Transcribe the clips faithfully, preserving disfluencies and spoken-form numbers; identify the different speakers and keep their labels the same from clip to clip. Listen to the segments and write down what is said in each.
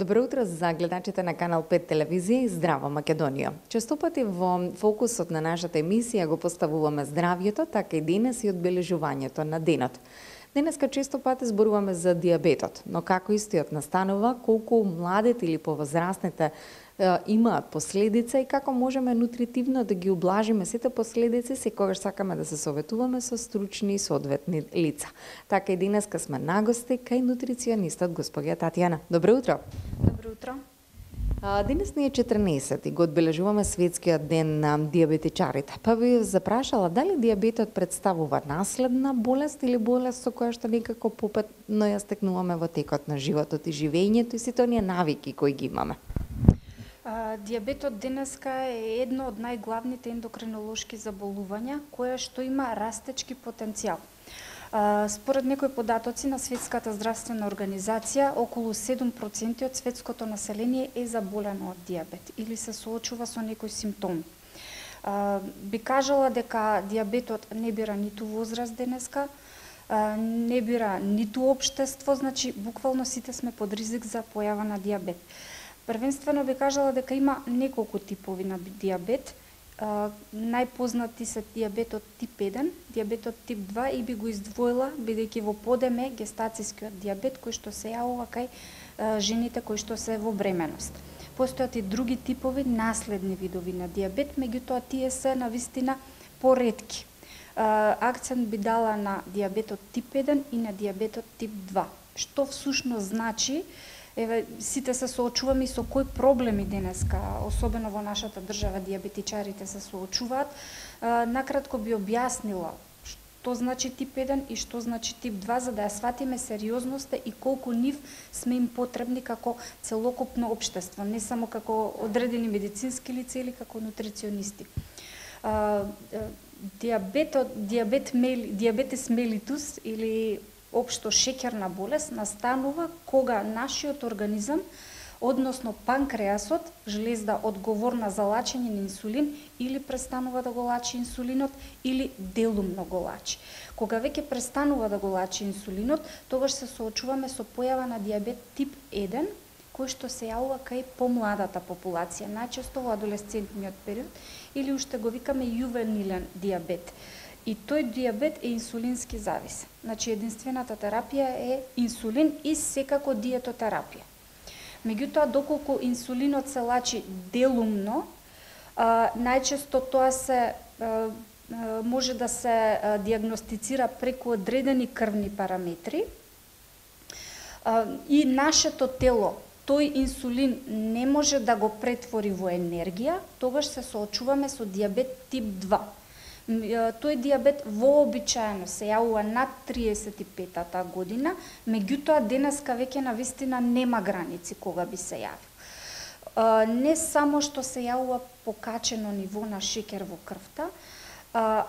Speaker 1: Добро утро за гледачите на Канал пет телевизија и Здрава Македонија. Често пати во фокусот на нашата емисија го поставуваме здравјето, така и денес и одбележувањето на денот. Денеска често пати зборуваме за диабетот, но како истиот настанува, колку младите или повозрастните имаат последица и како можеме нутритивно да ги ублажиме сите последици секогаш сакаме да се советуваме со стручни и соодветни лица. Така и денеска сме на гости кај нутриционистот госпоѓа Татјана. Добро утро.
Speaker 2: Добро утро.
Speaker 1: Денес ни е четрнаесети, го одбележуваме светскиот ден на диабетичарите. Па би запрашала дали диабетот представува наследна болест или болест со која што некако попетно ја стекнуваме во текот на животот и живењето и сите оние навики кои ги имаме.
Speaker 2: А, диабетот денеска е едно од најглавните ендокринолошки заболувања кое што има растечки потенцијал. А, според некои податоци на Светската здравствена организација, околу седум проценти од светското население е заболено од диабет или се соочува со некои симптоми. А, би кажала дека диабетот не бира ниту возраст денеска, а, не бира ниту општество, значи буквално сите сме под ризик за појава на диабет. Првенствено би кажала дека има неколку типови на диабет. Uh, најпознати се диабетот тип еден, диабетот тип два и би го издвоила бидејќи во подеме гестацијскиот диабет кој што се јавува кај uh, жените кои што се во бременост. Постојат и други типови наследни видови на диабет, меѓутоа тие се навистина поретки. Uh, акцент би дала на диабетот тип еден и на диабетот тип два. Што всушност значи? Еве, сите се соочуваме и со кои проблеми денеска, особено во нашата држава, диабетичарите се соочуваат. Накратко би објаснила што значи тип еден и што значи тип два, за да ја сватиме сериозноста и колку нив сме им потребни како целокупно општество, не само како одредени медицински лица или како нутриционисти. Диабетот, диабет мели, диабетес мелитус или општо шеќерна болест настанува кога нашиот организам, односно панкреасот, жлезда одговорна за лачење на инсулин, или престанува да го лачи инсулинот, или делумно го лачи. Кога веќе престанува да го лачи инсулинот, тогаш се соочуваме со појава на диабет тип еден, кој што се јавува кај помладата популација, најчесто во адолесцентниот период, или уште го викаме јувенилен диабет. И тој диабет е инсулински зависен. Значи, единствената терапија е инсулин и секако диетотерапија. Меѓутоа, доколку инсулинот се лачи делумно, а, најчесто тоа се а, може да се а, диагностицира преку одредени крвни параметри а, и нашето тело тој инсулин не може да го претвори во енергија, тогаш се соочуваме со диабет тип два. Тој диабет вообичаено се јавува над триесет и петата година, меѓутоа денеска веќе навистина нема граници кога би се јавил. Не само што се јавува покачено ниво на шеќер во крвта,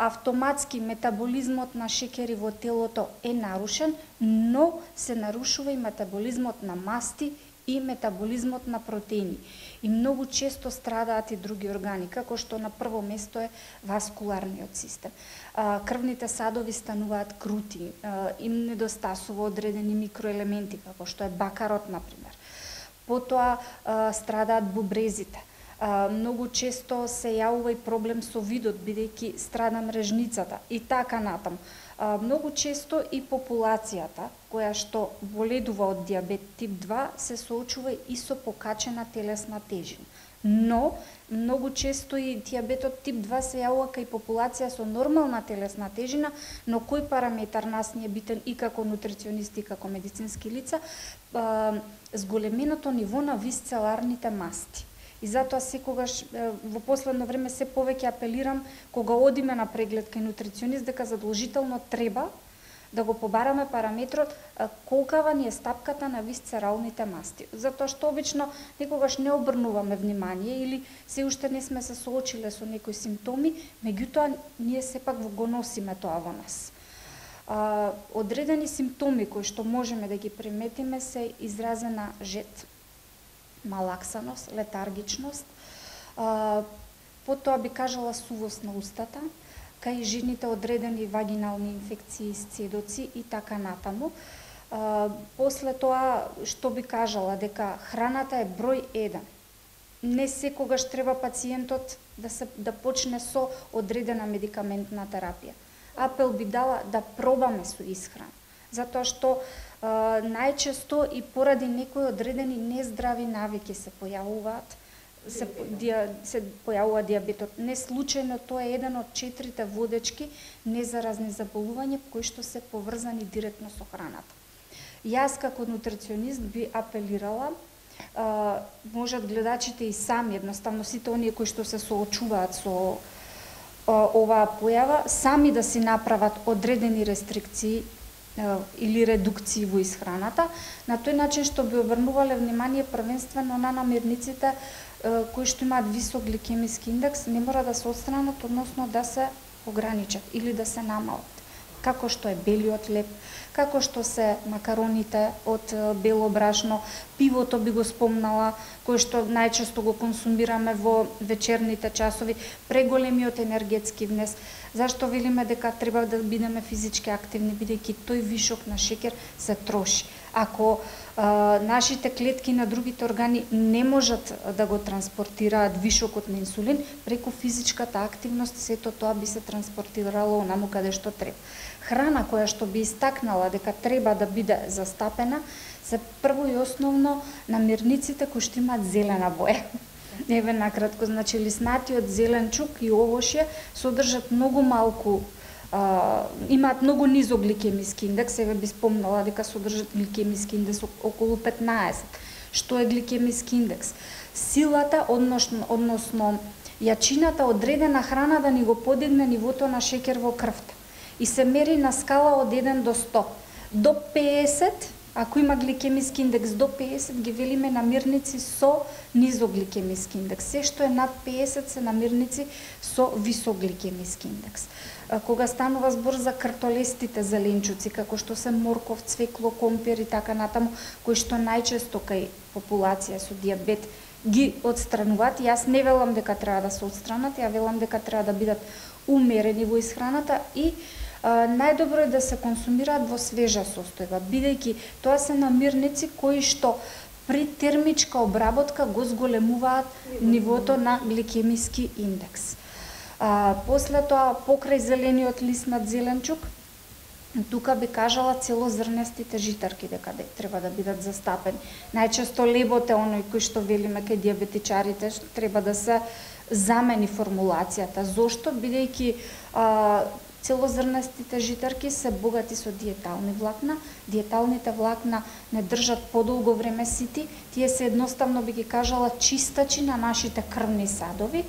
Speaker 2: автоматски метаболизмот на шеќери во телото е нарушен, но се нарушува и метаболизмот на масти и метаболизмот на протеини. И многу често страдаат и други органи, како што на прво место е васкуларниот систем. Крвните садови стануваат крути, им недостасува одредени микроелементи, како што е бакарот, например. Потоа страдаат бубрезите. Многу често се јавува и проблем со видот, бидејќи страда мрежницата и така натаму. Многу често и популацијата која што боледува од диабет тип два се соочува и со покачена телесна тежина. Но многу често и диабетот тип два се јавува кај популација со нормална телесна тежина, но кој параметар нас ни е битен и како нутриционисти и како медицински лица, зголеменото ниво на висцеларните масти. И затоа секогаш во последно време се повеќе апелирам кога одиме на преглед кај нутриционист дека задолжително треба да го побараме параметрот колкава ни е стапката на висцералните масти. Затоа што обично некогаш не обрнуваме внимание или се уште не сме се соочиле со некои симптоми, меѓутоа ние сепак го носиме тоа во нас. Одредени симптоми кои што можеме да ги приметиме се изразена жет, малаксаност, летаргичност, а, потоа би кажала сувост на устата, кај жените одредени вагинални инфекции, сцедоци и така натаму. А, после тоа, што би кажала, дека храната е број еден. Не секогаш треба пациентот да се да почне со одредена медикаментна терапија. Апел би дала да пробаме со исхрана, затоа што а, најчесто и поради некои одредени нездрави навики се појавуваат, се, диа, се појавува диабетот. Не случајно тоа е еден од четирите водечки незаразни заболувања кои што се поврзани директно со храната. Јас како нутриционист би апелирала, а, можат гледачите и сами, едноставно сите оние кои што се соочуваат со а, оваа појава, сами да си направат одредени рестрикции а, или редукции во исхраната, на тој начин што би обрнувале внимание првенствено на намирниците а, кои што имаат висок гликемиски индекс, не мора да се отстранат, односно да се ограничат или да се намалат, како што е белиот леб, како што се макароните од бело брашно, пивото би го спомнала, кој што најчесто го консумираме во вечерните часови, преголемиот енергетски внес. Зашто велиме дека треба да бидеме физички активни, бидејќи тој вишок на шеќер се троши. Ако а, нашите клетки на другите органи не можат да го транспортираат вишокот на инсулин, преку физичката активност сето тоа би се транспортирало онаму каде што треба. Храна која што би истакнала дека треба да биде застапена се прво и основно намирниците кои што имаат зелена боја. Еве накратко, значи лиснатиот зеленчук и овошје содржат многу малку, а, имаат многу низок гликемиски индекс, еве би спомнала дека содржат гликемиски индекс околу петнаесет. Што е гликемиски индекс? Силата, односно, односно јачината одредена храна да ни го подигне нивото на шеќер во крвта. И се мери на скала од еден до сто. До пеесет, ако има гликемиски индекс до пеесет, ги велиме намирници со низок гликемиски индекс. Се што е над пеесет се намирници со висок гликемиски индекс. Кога станува збор за кртолестите зеленчуци, како што се морков, цвекло, компир и така натаму, кои што најчесто кај популација со диабет ги отстрануваат, јас не велам дека треба да се отстранат, ја велам дека треба да бидат умерени во исхраната и а, најдобро е да се консумираат во свежа состојба, бидејќи тоа се намирници кои што при термичка обработка го зголемуваат нивото на гликемиски индекс. А, после тоа, покрај зелениот лиснат зеленчук, тука би кажала целозрнестите житарки дека треба да бидат застапени. Најчесто лебот е оној кој што велиме кај диабетичарите, треба да се замени формулацијата. Зошто? Бидејќи а, целозрнестите житарки се богати со диетални влакна. Диеталните влакна не држат подолго време сити. Тие се едноставно би ги кажала чистачи на нашите крвни садови.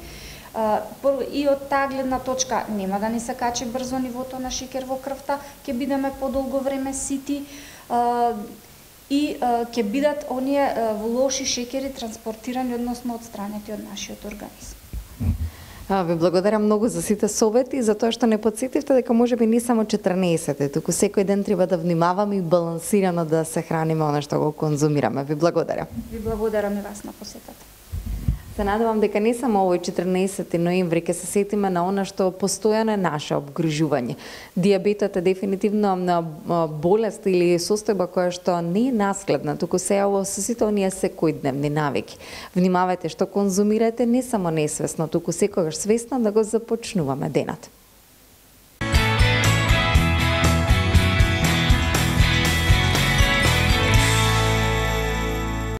Speaker 2: И од таа гледна точка нема да ни се качи брзо нивото на шеќер во крвта, ќе бидеме подолго време сити и ќе бидат оние лоши шеќери транспортирани, односно отстранети од нашиот организм.
Speaker 1: Ви благодарам многу за сите совети и за тоа што не потсетивте дека можеби не само четрнаесет, туку секој ден треба да внимаваме и балансирано да се храниме она што го конзумираме. Ви благодарам.
Speaker 2: Ви благодарам и вас на посетата.
Speaker 1: Се надевам дека не само овој четрнаесети ноември ќе се сетиме на она што постојано е наше обгрижување. Диабетот е дефинитивно болест или состојба која што не е наследна, туку се јавува со сите оние секојдневни навики. Внимавајте што конзумирате не само несвесно, туку секогаш свесно да го започнуваме денот.